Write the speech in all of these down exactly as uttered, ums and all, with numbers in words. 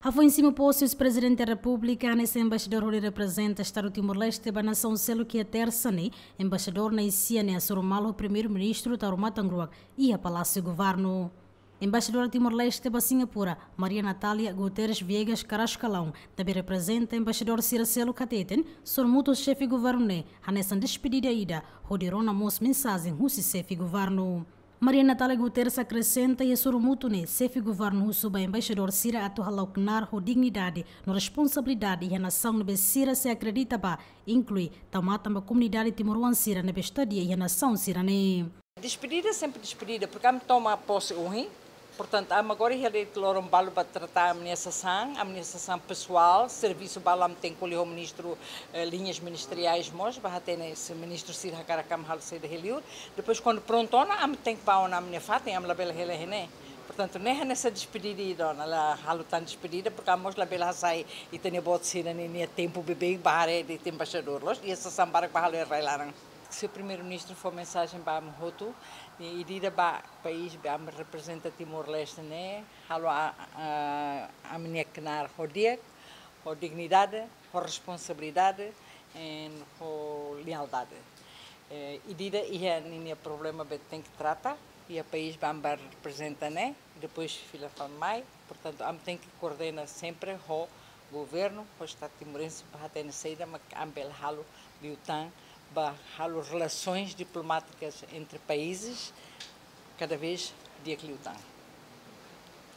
Hafoin simu pose husi Prezidente Repúblika, hanesan embaixadór hodi reprezenta Estadu Timor-Leste ba nasaun seluk iha Tersa ne'e, embaixadór Nai Sia ne'e hasoru malu ho Primeiru-Ministru Taur Matan Ruak iha Palásiu Governu. Embaixadora Timor-Leste ba Singapura, Maria Natália Guterres Viegas Carrascalão, ne'ebé reprezenta embaixadór sira seluk hateten, sorumutu ho xefe governu ne'e hanesan despedida ida, hodi rona mós mensajen husi xefe governu. Maria Natália Guterres akresenta, iha sorumutu ne'e xefe governu husu ba embaixadór sira atu hala'o knaar ho dignidade no responsabilidade iha nasaun ne'ebé sira sei akredita ba, inklui tau matan ba komunidade timoroan sira ne'ebé estadia iha nasaun sira-ne'e. Despedida sempre despedida, porque ami toma posse ohin. Portantu, ami agora iha de'it loron balu ba trata ami-nia sasán, ami-nia sasán pesoál, servisu balu ami tenke ko'alia ho ministru, eh, liñas ministeriais mós, ba hatene se ministru sira hakarak ami halo saida iha liur. Depois, kuandu prontu ona, ami tenke bá ona ami-nia fatin, ami labele hela iha ne'e. Portantu, ne'e hanesan despedida ida ona, la halo tan despedida, porque ami mós labele hasai ita-nia boot sira-nia, nia tempu beibeik ba haree de'it embaixadór loos, iha sasán barak ba halo iha rai laran. Señór Primeiru-Ministru fó mensajen ba ami hotu, i ida-idak ba país be ami reprezenta Timor-Leste ne'e, halo a, a, ami-nia knaar ho di'ak, ho dignidade, ho responsabilidade, i ho lealdade. Eh, ida-idak iha ninia problema be tenke trata, iha país be ami reprezenta ne'e, i depois fila fali mai. Portantu, ami tenke koordena sempre ho governu, ho Estadu timorense, ba hatene saida mak ami bele halo liután, ba halo relações diplomáticas entre países cada vez di'ak liután.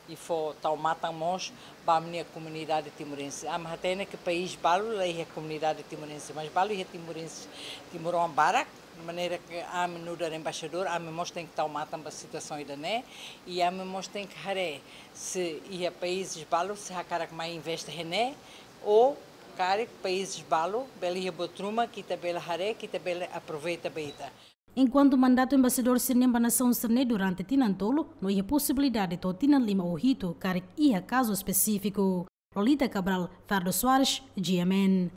I fó tau matan mós ba ami-nia komunidade timorense. Ami hatene ke país balu la iha komunidade timorense, mas balu iha timorense, timoroan barak, maneira ke ami nu'udar embaixadór, ami mós tenke tau matan ba situasaun ida-ne'e, i ami mós tenke haree se iha países balu sei hakarak mai investe iha ne'e, ou karik países balu bele iha buat ruma ke ita bele haree, ke ita bele aproveita ba ita. Enkuantu mandatu embaixadór sira-nian ba nasaun sira-ne'e durante tinan tolu, no iha posibilidade to'o tinan lima ou hitu, karik iha kazu espesífiku. Lolita Cabral, Ferdo Soares, G M N.